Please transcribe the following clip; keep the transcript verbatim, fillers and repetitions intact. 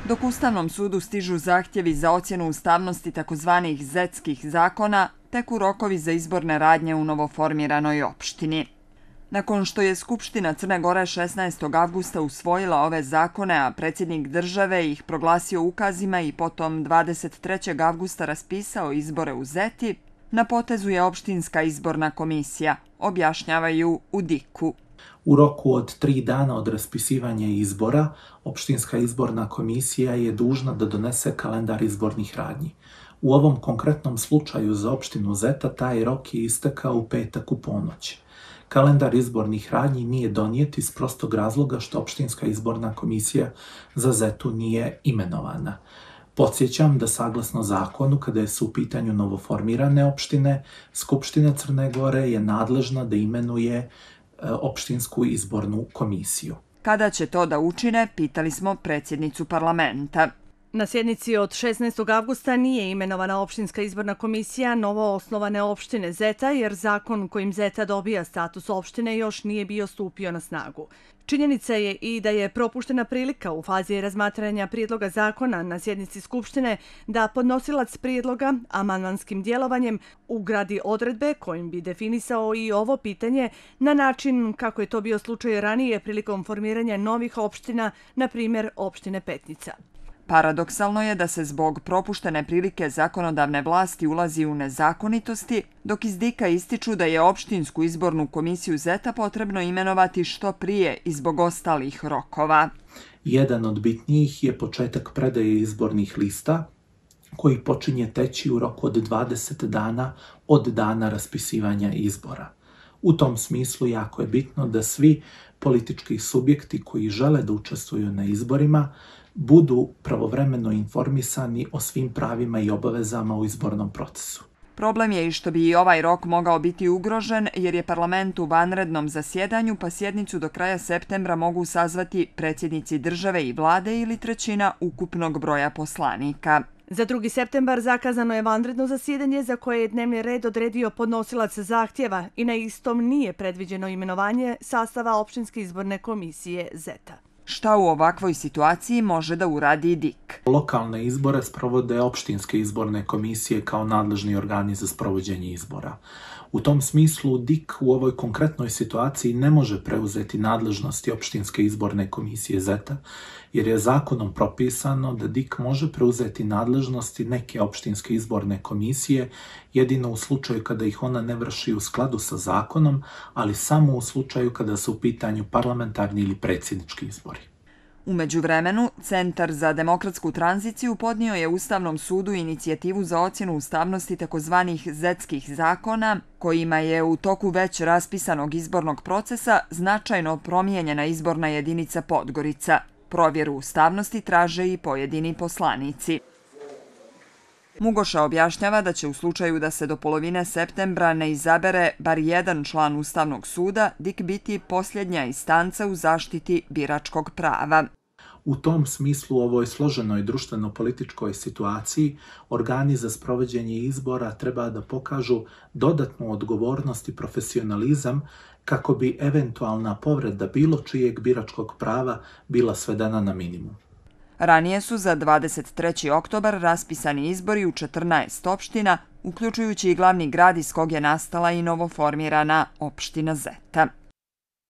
Dok Ustavnom sudu stižu zahtjevi za ocjenu ustavnosti takozvanih zetskih zakona, teku rokovi za izborne radnje u novoformiranoj opštini. Nakon što je Skupština Crne Gore šesnaestog avgusta usvojila ove zakone, a predsjednik države ih proglasio ukazima i potom dvadeset trećeg avgusta raspisao izbore u Zeti, na potezu je opštinska izborna komisija, objašnjavaju u diku. U roku od tri dana od raspisivanja izbora, opštinska izborna komisija je dužna da donese kalendar izbornih radnji. U ovom konkretnom slučaju za opštinu Zeta taj rok je istekao u petak u ponoć. Kalendar izbornih radnji nije donijet iz prostog razloga što opštinska izborna komisija za Zetu nije imenovana. Podsjećam da saglasno zakonu, kada su u pitanju novoformirane opštine, Skupština Crne Gore je nadležna da imenuje opštinsku izbornu komisiju. Kada će to da učine, pitali smo predsjednicu parlamenta. Na sjednici od šesnaestog avgusta nije imenovana opštinska izborna komisija novo osnovane opštine Zeta, jer zakon kojim Zeta dobija status opštine još nije bio stupio na snagu. Činjenica je i da je propuštena prilika u fazi razmatranja prijedloga zakona na sjednici Skupštine da podnosilac prijedloga amandmanskim djelovanjem ugradi odredbe kojim bi definisao i ovo pitanje na način kako je to bio slučaj ranije prilikom formiranja novih opština, na primjer opštine Petnica. Paradoksalno je da se zbog propuštene prilike zakonodavne vlasti ulazi u nezakonitosti, dok iz dika ističu da je opštinsku izbornu komisiju Zeta potrebno imenovati što prije i zbog ostalih rokova. Jedan od bitnijih je početak predaje izbornih lista, koji počinje teći u roku od dvadeset dana od dana raspisivanja izbora. U tom smislu jako je bitno da svi politički subjekti koji žele da učestvuju na izborima budu pravovremeno informisani o svim pravima i obavezama u izbornom procesu. Problem je i što bi i ovaj rok mogao biti ugrožen jer je parlament u vanrednom zasjedanju, pa sjednicu do kraja septembra mogu sazvati predsjednici države i vlade ili trećina ukupnog broja poslanika. Za drugi septembar zakazano je vanredno zasjedanje za koje je dnevni red odredio podnosilac zahtjeva i na istom nije predviđeno imenovanje sastava opštinske izborne komisije Zeta. Šta u ovakvoj situaciji može da uradi dik? Lokalne izbore sprovode opštinske izborne komisije kao nadležni organi za sprovođenje izbora. U tom smislu dik u ovoj konkretnoj situaciji ne može preuzeti nadležnosti opštinske izborne komisije Zeta, jer je zakonom propisano da dik može preuzeti nadležnosti neke opštinske izborne komisije jedino u slučaju kada ih ona ne vrši u skladu sa zakonom, ali samo u slučaju kada su u pitanju parlamentarni ili predsjednički izbori. U međuvremenu, Centar za demokratsku tranziciju podnio je Ustavnom sudu inicijativu za ocjenu ustavnosti takozvanih zetskih zakona, kojima je u toku već raspisanog izbornog procesa značajno promijenjena izborna jedinica Podgorica. Provjeru ustavnosti traže i pojedini poslanici. Mugoša objašnjava da će u slučaju da se do polovine septembra ne izabere bar jedan član Ustavnog suda, dik biti posljednja instanca u zaštiti biračkog prava. U tom smislu u ovoj složenoj društveno-političkoj situaciji organi za sprovođenje izbora treba da pokažu dodatnu odgovornost i profesionalizam kako bi eventualna povreda bilo čijeg biračkog prava bila svedena na minimum. Ranije su za dvadeset treći oktobar raspisani izbori u četrnaest opština, uključujući i glavni grad iz kog je nastala i novoformirana opština Zeta.